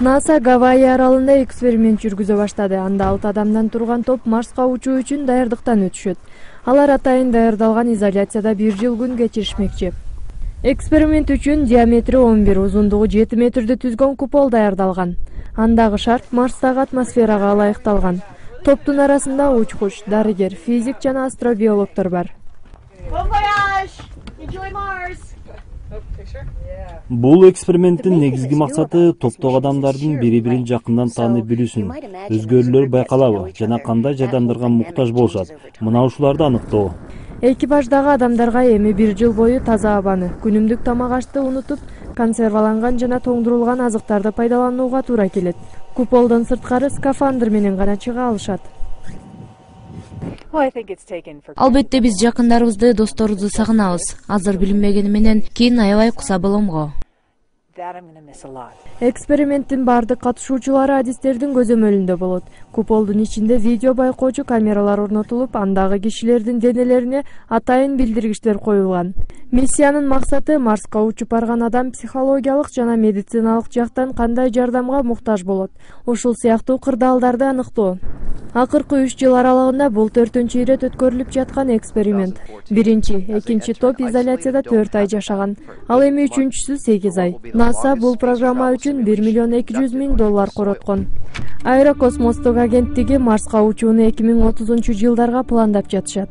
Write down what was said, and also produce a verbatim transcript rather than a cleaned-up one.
НАСА Гавайи аралында эксперимент жүргүзө баштады. Анда алты адамдан турган топ Марска учуу үчүн даярдыктан өтүшөт. Алар атайын даярдалган изоляцияда бир жыл күн кечиришмекчи. Эксперимент үчүн диаметри он бир, узундугу жети метрди түзгөн купол даярдалган. Андагы шарт Марстагы атмосферага ылайыкталган. Топтун арасында учкуч, дарыгер, физик жана астробиологдор бар. Бул эксперименттин негизги максаты топтогу адамдардын бири-бирин жакындан таанып билүүсүн, өзгөрүүлөр байкалабы жана кандай жардамдарга муктаж болушат, мына ушуларды аныктоо. Экипаждагы адамдарга эми бир жыл бою таза абаны, күнүмдүк тамак ашты унутуп, консерваланган жана тоңдурулган азыктарды пайдаланууга туура келет. Куполдон сырткары скафандр менен гана чыга алышат. Албетте биз жакындарыбызды, досторубузду сагынабыз. Азыр билинбегени менен кийин аябай куса болом го. Эксперименттин бардык катышуучулары адистердин көзөмөлүндө болот. Куполдун ичинде видео байкоочу камералар орнотулуп, андагы кишилердин денелерине атайын билдиргичтер коюлган. Миссиянын максаты Марска учуп барган адам психологиялык жана медициналык жактан кандай жардамга муктаж болот, ушул сыяктуу кырдаалдарды аныктоо. Акыркы үч жыл аралыгында бул төртүнчү ирет өткөрүлүп жаткан эксперимент. Биринчи, экинчи топ изоляцияда төрт ай жашаган, ал эми үчүнчүсү сегиз ай. НАСА бул программа үчүн бир миллион эки жүз миң доллар короткон. Аэрокосмостук агенттиги Марска учууну эки миң отузунчу жылдарга пландап жатышат.